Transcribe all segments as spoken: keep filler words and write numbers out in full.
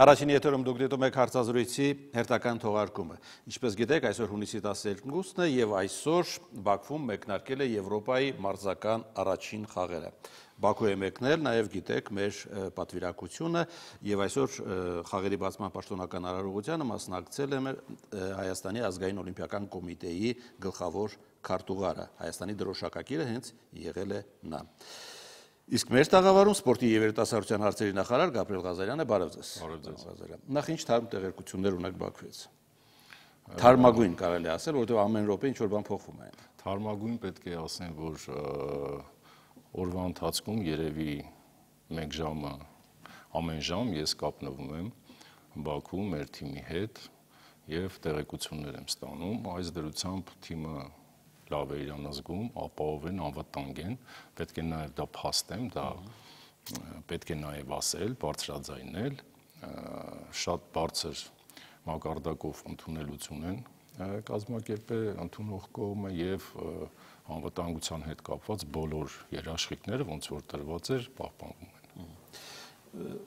Առաջին եթերում դուք դիտում եք հարցազրույցի հերթական թողարկումը։ Ինչպես գիտեք, այսօր հունիսի տասներկուսն է եւ այսօր Բաքվում մեկնարկել է Եվրոպայի մարզական առաջին խաղերը։ Բաքու է մեկնել, նաեւ գիտեք մեր պատվիրակությունը եւ այսօր խաղերի բացման պաշտոնական արարողությանը մասնակցել է Հայաստանի ազգային օլիմպիական կոմիտեի գլխավոր քարտուղարը, Հայաստանի դրոշակակիրը հենց եղել է նա։ Իսկ մեր տաղավարում սպորտի եւ երիտասարդության հարցերի նախարար Գաբրիել Ղազարյանը, բարև ձեզ։ Բարև ձեզ։ Նախ ինչ թարմ տեղեկություններ ունեք Բաքվից։ Թարմագույն կարելի ասել, որովհետեւ ամեն րոպե ինչ որ բան փոխվում է։ Թարմագույն պետք է ասեմ, որ օրվա ընթացքում երևի մեկ ժամը ամեն ժամ ես կապնվում եմ Բաքու մեր թիմի հետ եւ տեղեկություններ եմ ստանում։ Այս դրությամբ թիմը լավ է իրան զգում, ապահով են, անվտանգ են, պետք է նաև դա փաստեմ, դա պետք է նաև ասել, բարձրաձայնել, շատ բարձր մակարդակով ընդունելություն են կազմակերպել ընդունող կողմը եւ անվտանգության հետ կապված բոլոր երաշխիքները, ոնց որ տրված էր, պահպանվում են։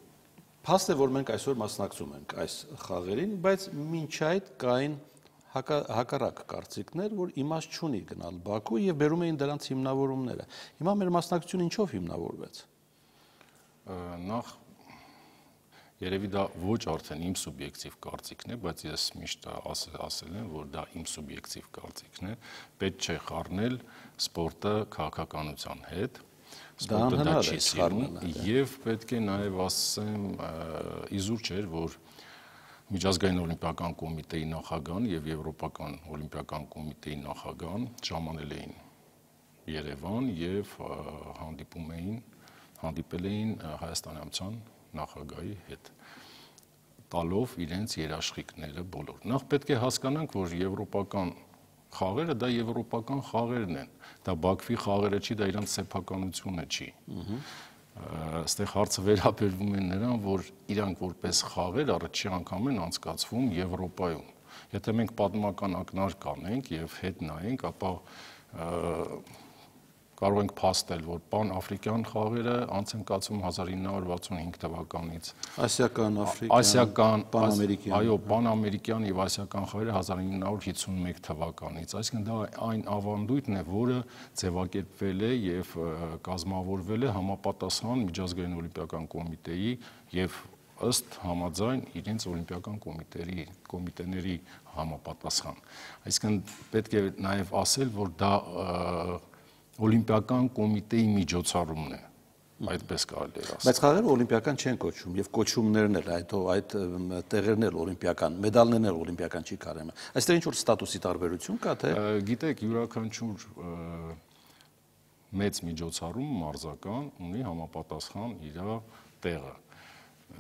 Փաստ է, որ մենք այսօր մասնակցում ենք այս խաղերին, բայց մինչ այդ կային հակառակ կարծիքներ, որ իմաստ չունի գնալ Բաքու եւ բերում էին դրանց հիմնավորումները։ Հիմա մեր մասնակցությունը ինչով հիմնավորվեց։ Նախ երևի դա ոչ արդեն իմ սուբյեկտիվ կարծիքն է, բայց ես միշտ ասել եմ, որ դա իմ սուբյեկտիվ կարծիքն է։ Պետք չէ խառնել սպորտը քաղաքականության հետ։ Սպորտը դա չի սիրում եւ պետք է նաեւ ասեմ իզուր չէր, որ Միջազգային օլիմպիական կոմիտեի նախագահան եւ Եվրոպական օլիմպիական կոմիտեի նախագահան ժամանել էին Երևան եւ հանդիպում էին, հանդիպել էին Հայաստանյան նախագահի հետ, տալով իրենց երաշխիքները բոլոր։ Նախ պետք է հասկանանք, որ եվրոպական խաղերը դա եվրոպական խաղերն են։ Դա Բաքվի խաղերը չի, դա իրանց սեփականությունը չի։ Այստեղ հարցը վերաբերվում է նրան, որ իրանք որպես խաղեր առաջի անգամ են անցկացվում Եվրոպայում։ Եթե մենք պատմական ակնարկ անենք եւ հետ նայենք, ապա կարող ենք փաստել, որ պան-աֆրիկյան խաղերը անց են կացվում հազար ինը հարյուր վաթսունհինգ թվականից։ Ասիական, աֆրիկյան, պանամերիկյան։ Այո, պանամերիկյան եւ ասիական խաղերը հազար ինը հարյուր հիսունմեկ թվականից։ Այսինքն դա այն ավանդույթն է, որը ձևակերպվել է եւ կազմավորվել է համապատասխան Միջազգային օլիմպիական կոմիտեի եւ ըստ համաձայն իրենց օլիմպիական կոմիտեի կոմիտեների համապատասխան։ Այսինքն պետք է նաեւ ասել, որ դա օլիմպիական կոմիտեի միջոցառումն է, այդպես կարելի է ասել։ Բայց խաղերը օլիմպիական չեն կոչվում եւ կոչումներն էլ այդ այդ տեղերն էլ օլիմպիական, մեդալներն էլ օլիմպիական չի կարեմ։ Այստեղ ինչ որ ստատուսի տարբերություն կա, թե։ Գիտեք, յուրաքանչյուր մեծ միջոցառում մարզական ունի համապատասխան իր տեղը։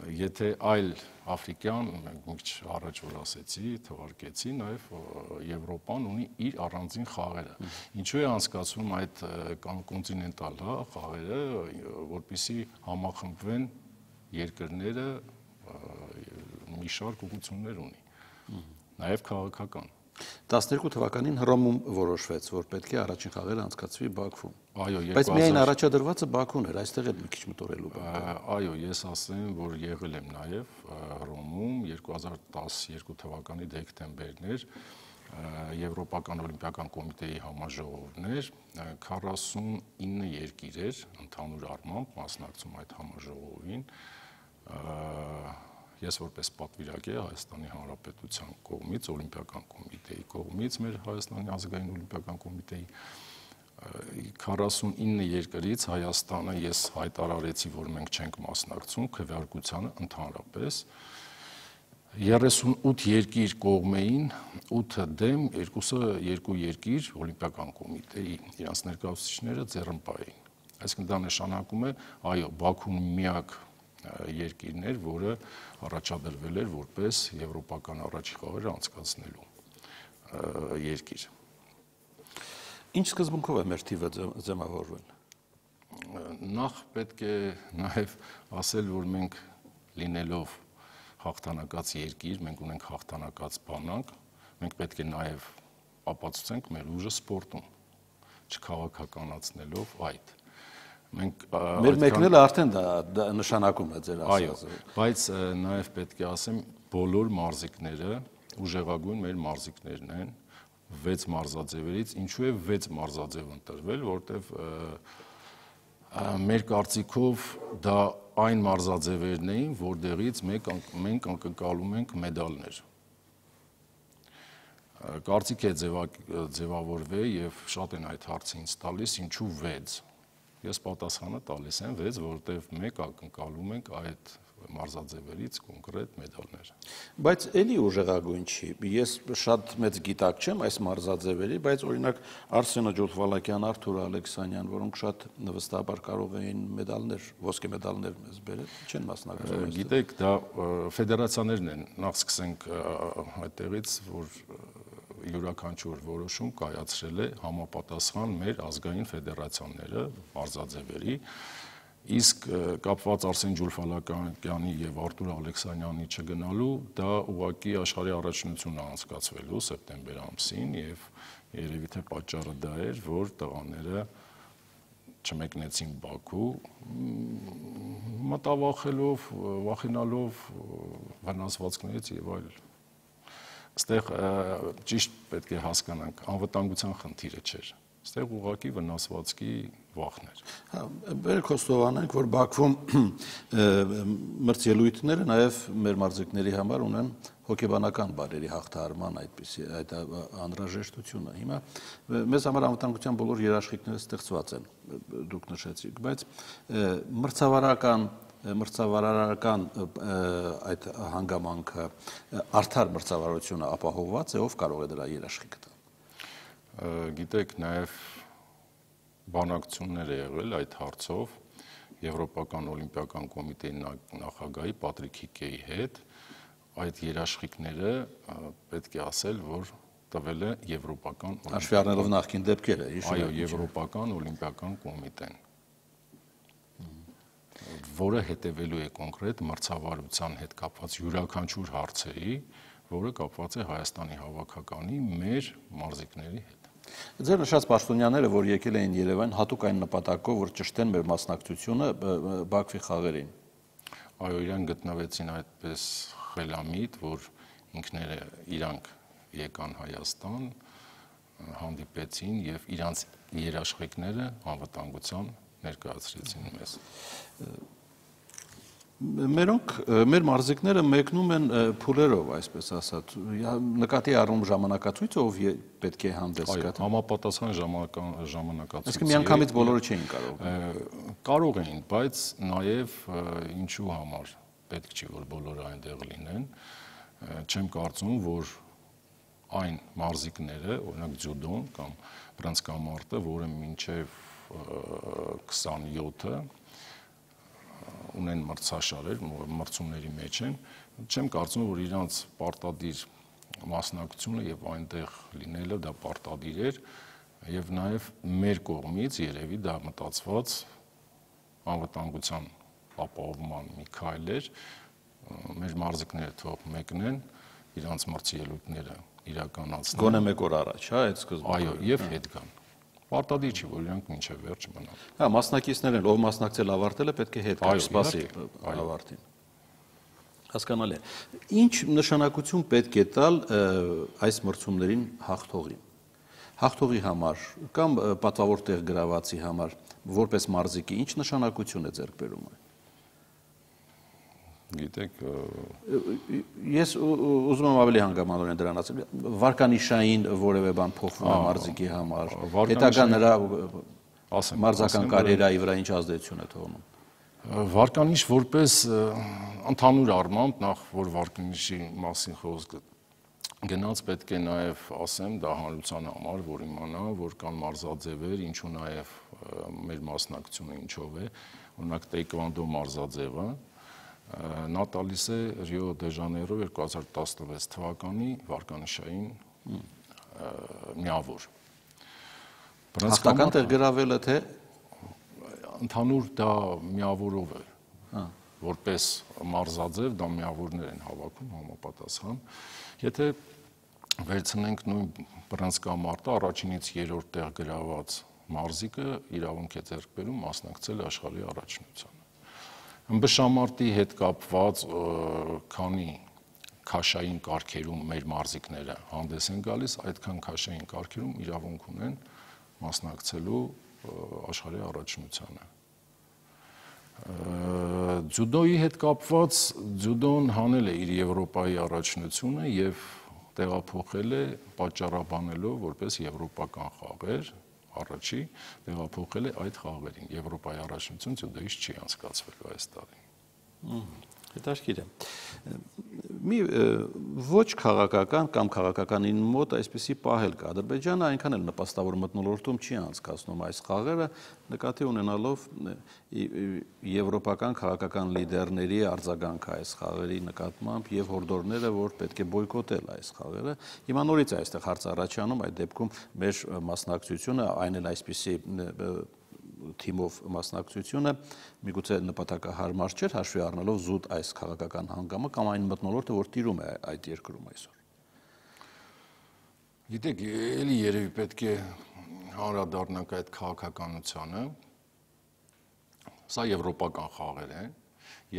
Եթե այլ աֆրիկյան, մի քիչ առաջ որ ասեցի, թվարկեցի, նաև Եվրոպան ունի իր առանձին խաղերը։ Ինչու է անցկացվում այդ կոնտինենտալ խաղերը, որպեսզի համախմբվեն երկրները, մի շարք ուղղություններ ունի, նաև քաղաքական։ տասներկու թվականին Հռոմում որոշվեց, որ պետք է առաջին խաղերը անցկացվի Բաքվում։ Այո, բայց միայն առաջադրվածը Բաքուն էր, այստեղ էլ մի քիչ մտորելու բան։ Այո, ես ասեմ, որ եղել եմ նաև Հռոմում երկու հազար տասներկու թվականի դեկտեմբերն էր, Եվրոպական օլիմպիական կոմիտեի համաժողովն էր, քառասունինը երկիր էր ընդհանուր առմամբ մասնակցում այդ համաժողովին։ Ես որպես պատվիրակետ Հայաստանի Հանրապետության կողմից, օլիմպիական կոմիտեի կողմից, մեր Հայաստանի ազգային օլիմպիական կոմիտեի քառասունինը երկրից Հայաստանը ես հայտարարեցի, որ մենք չենք մասնակցում քվեարկությանը ընդհանրապես։ երեսունութ երկիր կողմեին, ութը դեմ, երկուսը երկու երկիր օլիմպիական կոմիտեի իրանց ներկայացուցիչները ձեռնպահ էին։ Այսինքն դա նշանակում է, այո, Բաքուն միակ երկիրներ, որը առաջադրվել էր որպես եվրոպական առաջին խաղերը անցկացնելու երկիր։ Ինչ սկզբունքով է մեր թիվը ձևավորվել։ Նախ պետք է նաև ասել, որ մենք լինելով հաղթանակած երկիր, մենք ունենք հաղթանակած բանակ, մենք պետք է նաև ապացուցենք մեր ուժը սպորտում, չքաղաքականացնելով այդ։ Մենք մեր մեկնելը արդեն դա նշանակում է ձեր ասածը։ Այո, բայց նաև պետք է ասեմ, բոլոր մարզիկները ուժեղագույն մեր մարզիկներն են, վեց մարզաձևերից, ինչու է վեց մարզաձև ընտրվել, որտեվ մեր կարծիքով դա այն մարզաձևերն էին, որտեղից մենք անկնկալում ենք մեդալներ։ Կարծիք է ձևավորվել եւ շատ են այդ հարցը ինձ տալիս, ինչու վեց։ Ես պատասխանը տալիս եմ վեց, որովհետեւ մեկ ակնկալում ենք այդ մարզաձևերից կոնկրետ մեդալներ։ Բայց էլի ուժեղագույն չի։ Ես շատ մեծ գիտակ չեմ այս մարզաձևերի, բայց օրինակ Արսենը Ջոլֆալակյան, Արթուր Ալեքսանյան, որոնք շատ վստահաբար կարող էին մեդալներ, ոսկե մեդալներ մեզ բերել, չեն մասնակցում։ Գիտեք, դա ֆեդերացիաներն են, նախ սկսենք այդտեղից, որ յուրաքանչյուր որոշում կայացրել է համապատասխան մեր ազգային ֆեդերացիաները մարզաձևերի, իսկ կապված Արսեն Ջոլֆալակյանի եւ Արթուր Ալեքսանյանի չգնալու, դա ուղղակի աշխարհի առաջնությունն է անցկացվելու սեպտեմբեր ամսին եւ երևի թե պատճառը դա էր, որ տղաները չմեկնեցին Բաքու, մտավախելով, վախենալով վնասվածքներից եւ այլ։ Այստեղ ճիշտ պետք է հասկանանք, անվտանգության խնդիրը չէր։ Այստեղ ուղղակի վնասվածքի վախն էր։ Բերեք խոստովանենք, որ Բաքվում մրցելույթները նաև մեր մարզիկների համար ունեն հոգեբանական բարերի հաղթահարման այդպիսի այդ անհրաժեշտությունը։ Հիմա մեզ համար անվտանգության բոլոր երաշխիքները ստեղծված են, դուք նշեցիք, բայց մրցավարական մրցավարարական այդ հանգամանքը արդար մրցավարությունը ապահովված է, ով կարող է դրա երաշխիքը տալ։ Գիտեք, նաև բանակցություններ է եղել այդ հարցով Եվրոպական օլիմպիական կոմիտեի նախագահի Պատրիկ Հիկեի հետ, այդ երաշխիքները պետք է ասել, որ տվել է Եվրոպական հաշվի առնելով նախկին դեպքերը, այո, Եվրոպական օլիմպիական կոմիտեն, որը հետևելու է կոնկրետ մրցավարության հետ կապված յուրաքանչյուր հարցերի, որը կապված է Հայաստանի հավաքականի մեր մարզիկների հետ։ Ձեր նշած պաշտոնյաները, որ եկել էին Երևան, հատուկ այն նպատակով, որ ճշտեն մեր մասնակցությունը Բաքվի խաղերին։ Այո, իրենք գտնվեցին այդպես խելամիտ, որ ինքները իրանք եկան Հայաստան, հանդիպեցին եւ իրանց երաշխիքները անվտանգության ներկայացրեցին մեզ։ Մերոնք մեր մարզիկները մեկնում են փուլերով, այսպես ասած, նկատի առնում ժամանակացույցը, ով պետք է հանդես գա։ Համապատասխան ժամանակացույց։ Այսինքն միանգամից բոլորը չէին կարող։ Կարող էին, բայց նաև ինչու համար պետք չի, որ բոլորը այնտեղ լինեն։ Չեմ կարծում, որ այն մարզիկները, օրինակ ձյուդոն կամ բռնցքամարտը, որը մինչև քսանյոթը ունեն մրցաշարեր, մրցումների մեջ են, չեմ կարծում, որ իրանց պարտադիր մասնակցությունը եւ այնտեղ լինելը դա պարտադիր էր եւ նաեւ մեր կողմից երևի դա մտածված անվտանգության ապահովման մի քայլ էր, մեր մարզիկները թող մեկնեն իրանց մրցելույթները իրականացնեն։ Գոնե մեկ օր առաջ, հա, այդ սկզբում։ Այո, եւ հետ գան։ Պարտադիր չի, որ իրանք մինչև վերջ մնան։ Հա, մասնակիցներն, ով մասնակցել ավարտել է, պետք է հետ գա, սպասի ավարտին։ Հասկանալի է։ Ինչ նշանակություն պետք է տալ այս մրցումներին հաղթողին։ Հաղթողի համար կամ պատվավոր տեղ գրավացի համար, որպես մարզիկի, ինչ նշանակություն է ձեռք բերում այն։ Գիտեք, ես ուզում եմ ավելի հանգամանորեն դրան ասել, վարկանիշային որևէ բան փոխվում է մարզիկի համար, հետագա նրա մարզական կարիերայի վրա ինչ ազդեցություն է թողնում։ Վարկանիշ որպես ընդհանուր առմամբ, նախ որ վարկանիշի մասին խոսքը գնաց, պետք է նաև ասեմ դա հանրության համար, որ իմանա, որ կան մարզաձևեր, ինչու նաև մեր մասնակցությունը ինչով է, օրինակ տեյկվանդո մարզաձևը, նա տալիս է Ռիո դե Ժանեյրո երկու հազար տասնվեց թվականի վարկանիշային միավոր։ Հաղթական տեղ գրավելը թե ընդհանուր դա միավորով է, որպես մարզաձև դա միավորներ են հավաքում համապատասխան։ Եթե վերցնենք նույն բռնցքամարտը առաջինից երրորդ տեղ գրաված մարզիկը իրավունք է ձեռք բերում մասնակցել աշխարհի առաջնությանը։ Ըմբշամարտի հետ կապված քանի քաշային կարգերում մեր մարզիկները հանդես են գալիս, այդքան քաշային կարգերում իրավունք ունեն մասնակցելու աշխարհի առաջնությանը։ Ձյուդոյի հետ կապված ձյուդոն հանել է իր Եվրոպայի առաջնությունը եւ տեղափոխել է պատճառաբանելով որպես եվրոպական խաղեր, առաջի տեղափոխել է այդ խաղերին։ Եվրոպայի առաջնություն ձյուդոյից չի անցկացվելու այս տարի։ Հետաքրքիր է։ Մի ոչ քաղաքական կամ քաղաքականին մոտ այսպիսի պահել կա։ Ադրբեջանը այնքան էլ նպաստավոր մթնոլորտում չի անցկացնում այս խաղերը, նկատի ունենալով եվրոպական քաղաքական լիդերների արձագանքը այս խաղերի նկատմամբ եւ հորդորները, որ պետք է բոյկոտել այս խաղերը։ Հիմա նորից այստեղ հարց առաջանում, այդ դեպքում մեր մասնակցությունը, այն էլ այսպիսի թիմով մասնակցությունը միգուցե նպատակահարմար չէր, հաշվի առնելով զուտ այս քաղաքական հանգամը կամ այն մթնոլորտը, որ տիրում է այդ երկրում այսօր։ Գիտեք, էլի երևի պետք է անդրադառնանք այդ քաղաքականությանը։ Սա եվրոպական խաղեր են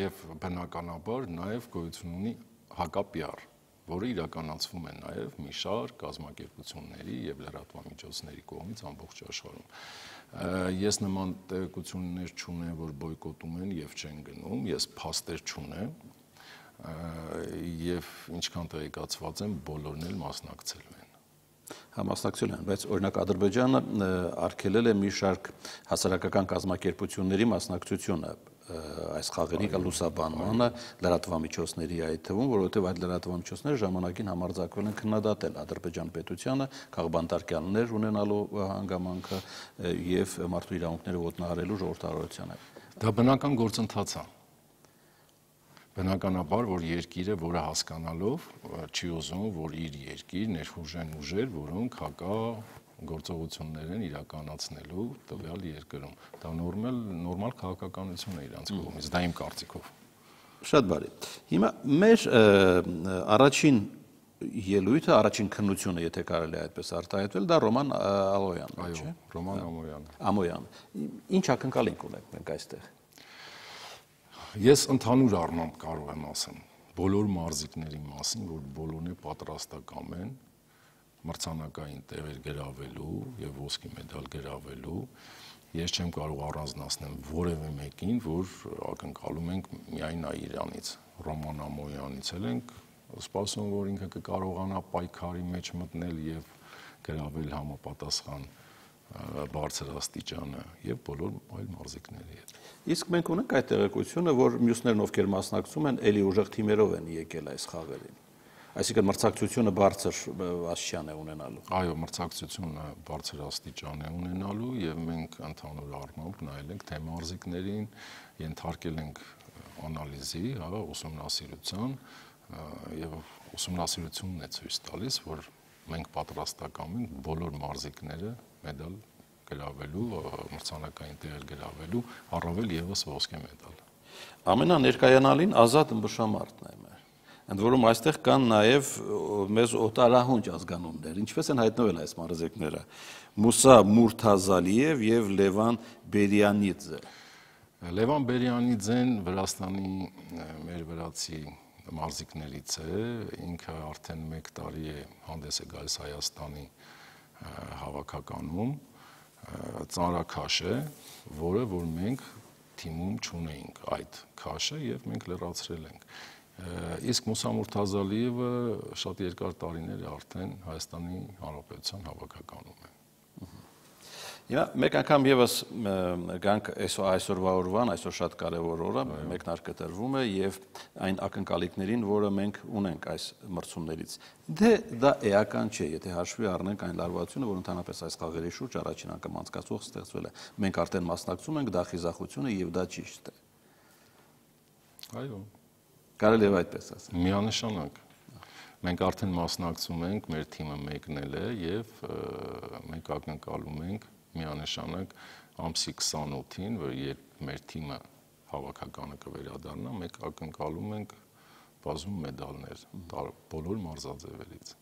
եւ բնականաբար նաեւ գոյություն ունի հակապիար, որը իրականացվում է նաեւ մի շարք կազմակերպությունների եւ լրատվամիջոցների կողմից ամբողջ աշխարհում։ Ես նման տեղեկություններ չունեմ, որ բոյկոտում են եւ չեն գնում, ես փաստեր չունեմ եւ ինչքան տեղեկացված եմ, բոլորն էլ մասնակցել են։ Համասնակցել են, բայց օրինակ Ադրբեջանը արգելել է մի շարք հասարակական կազմակերպությունների մասնակցությունը այս խաղերի լուսաբանմանը, լրատվամիջոցների այդ թվում, որովհետև այդ լրատվամիջոցները ժամանակին համարձակվել են քննադատել Ադրբեջան պետությանը, քաղբանտարկյալներ ունենալու հանգամանքը եւ մարդու իրավունքները ոտնահարելու ժողովրդավարությանը։ Դա բնական գործընթաց է։ Բնականաբար, որ երկիրը, որը հասկանալով չի ուզում, որ իր երկիր ներխուժեն ուժեր, որոնք հակա գործողություններ են իրականացնելու տվյալ երկրում։ Դա նորմալ նորմալ քաղաքականություն է իրանց կողմից, դա իմ կարծիքով։ Շատ բարի։ Հիմա մեր առաջին ելույթը, առաջին քննությունը, եթե կարելի է այդպես արտահայտվել, դա Ռոման Ալոյանն է, չէ՞։ Ռոման Ամոյանը։ Ամոյանը։ Ինչ ակնկալիք ունենք մենք այստեղ։ Ես ընդհանուր առմամբ կարող եմ ասեմ բոլոր մարզիկների մասին, որ բոլորն է պատրաստական են մրցանակային տեղեր գրավելու եւ ոսկի մեդալ գրավելու։ Ես չեմ կարող առանձնացնել որևէ մեկին, որ ակնկալում ենք միայն Իրանից, Ռոման Ամոյանից էլ ենք սպասում, որ ինքը կկարողանա պայքարի մեջ մտնել եւ գրավել համապատասխան բարձր աստիճանը եւ բոլոր այլ մարզիկների հետ։ Իսկ մենք ունենք այդ տեղեկությունը, որ մյուսներն ովքեր մասնակցում են, էլի ուժեղ թիմերով են եկել այս խաղերին։ Այսինքն մրցակցությունը բարձր աստիճան է ունենալու։ Այո, մրցակցությունը բարձր աստիճան է ունենալու եւ մենք ընդհանուր առմամբ նայել ենք թե մարզիկներին ենթարկել ենք անալիզի, հա, ուսումնասիրության եւ ուսումնասիրությունն է ցույց տալիս, որ մենք պատրաստական ենք բոլոր մարզիկները մեդալ գրավելու, մրցանակային տեղեր գրավելու, առավել եւս ոսկե մեդալ։ Ամենաներկայանալին ազատ ըմբշամարտն է մեր։ Ընդ որում այստեղ կան նաեւ մեզ օտարահունչ ազգանուններ, ինչպես են հայտնվել այս մարզիկները՝ Մուսա Մուրթազալիև եւ Լևան Բերյանիձե։ Լևան Բերյանիձեն Վրաստանի մեր վրացի մարզիկներից է, ինքը արդեն մեկ տարի է հանդես է գալիս Հայաստանի հավաքականում, ծանրաքաշ է, որը որ մենք թիմում չունեինք այդ քաշը եւ մենք լրացրել ենք։ Իսկ Մուսա Մուրթազալիևը շատ երկար տարիներ է արդեն Հայաստանի Հանրապետության հավաքականում է։ Հիմա մեկ անգամ եւս գանք այսօրվա օրվան, այսօր շատ կարեւոր օր է, մեկնարկը տրվում է եւ այն ակնկալիքներին, որը մենք ունենք այս մրցումներից։ Դե դա էական չէ, եթե հաշվի առնենք այն լարվածությունը, որ ընդհանրապես այս խաղերի շուրջ առաջին անգամ անցկացող ստեղծվել է։ Մենք արդեն մասնակցում ենք, դա խիզախություն է եւ դա ճիշտ է։ Այո։ Կարելի է այդպես ասել։ Միանշանակ։ Մենք արդեն մասնակցում ենք, մեր թիմը մեկնել է եւ մենք ակնկալում ենք միանշանակ ամսի քսանութին, որ երբ մեր թիմը հավաքականը կվերադառնա, մենք ակնկալում ենք բազում մեդալներ բոլոր մարզաձևերից։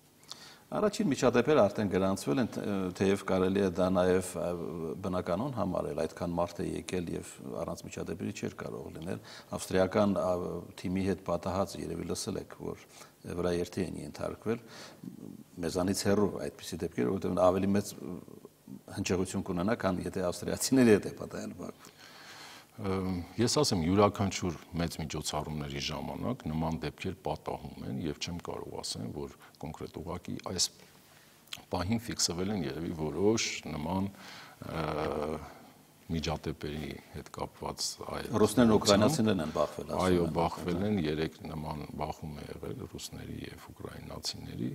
Առաջին միջադեպերը արդեն գրանցվել են, թեև կարելի է դա նաև բնականon համարել, այդքան մարդ է եկել եւ առանց միջադեպերի չէր կարող լինել։ Ավստրիական թիմի հետ պատահած երևի լսել եք, որ վրաերթի են ենթարկվել, մեզանից հեռու այդպիսի դեպքեր, որովհետեւ ավելի մեծ հնչեղություն կունենա, քան եթե ավստրիացիների հետ է պատահել Բաքվում։ Ես ասեմ, յուրաքանչյուր մեծ միջոցառումների ժամանակ նման դեպքեր պատահում են եւ չեմ կարող ասեմ, որ կոնկրետ ուղղակի այս պահին ֆիքսվել են երևի որոշ նման միջադեպերի հետ կապված այլ ռուսներն ու ուկրաինացիներն են բախվել, ասում են։ Այո, բախվել են, երեք նման բախում է եղել ռուսների եւ ուկրաինացիների։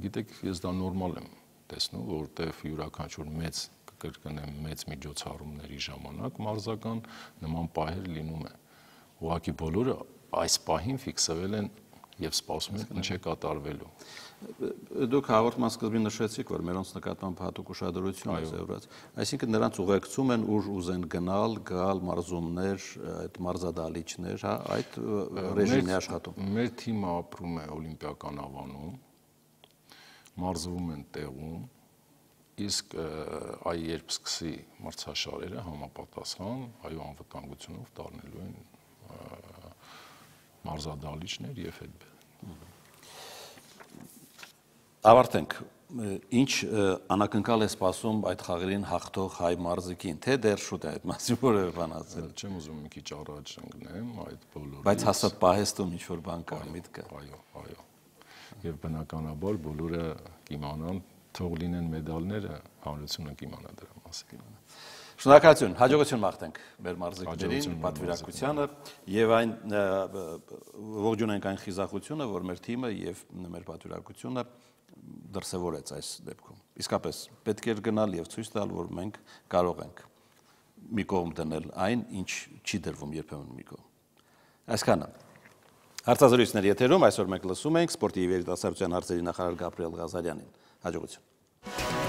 Գիտեք, ես դա նորմալ եմ տեսնում, որտեղ յուրաքանչյուր մեծ կրկնեմ մեծ միջոցառումների ժամանակ մարզական նման պահեր լինում է։ Ուղղակի բոլորը այս պահին ֆիքսվել են եւ սպասում են ինչ է կատարվելու։ Դուք հաղորդման սկզբին նշեցիք, որ մերոնց նկատմամբ հատուկ ուշադրություն է զորված։ Այսինքն նրանց ուղեկցում են ուր ուզեն գնալ, գալ մարզումներ, այդ մարզադահլիճներ, հա, այդ ռեժիմն է աշխատում։ Մեր թիմը ապրում է Օլիմպիական ավանում, մարզվում են տեղում, իսկ այ երբ սկսի մրցաշարերը համապատասխան այո անվտանգությունով դառնելու են մարզադահլիճներ եւ այդպես։ Ավարտենք, ինչ անակնկալ է սպասում այդ խաղերին հաղթող հայ մարզիկին, թե դեռ շուտ է այդ մասին որևէ բան ասել։ Չեմ ուզում մի քիչ առաջ ընկնեմ այդ բոլորից։ Բայց հաստատ պահեստում ինչ որ բան կա, միտք կա։ Այո, այո։ Եվ բնականաբար բոլորը կիմանան, թող լինեն մեդալները, հանրությունը կիմանա դրա մասին։ Շնորհակալություն, հաջողություն մաղթենք մեր մարզիկներին, պատվիրակությանը եւ այն ողջունենք այն խիզախությունը, որ մեր թիմը եւ մեր պատվիրակությունը դրսևորեց այս դեպքում։ Իսկապես պետք է գնալ եւ ցույց տալ, որ մենք կարող ենք մի կողմ դնել այն, ինչ չի դրվում երբեմն մի կողմ։ Այսքանը հարցազրույցների եթերում այսօր մենք լսում ենք սպորտի երիտասարդության հարցերի նախարար Գաբրիել Ղազարյանին։ Հաջողություն։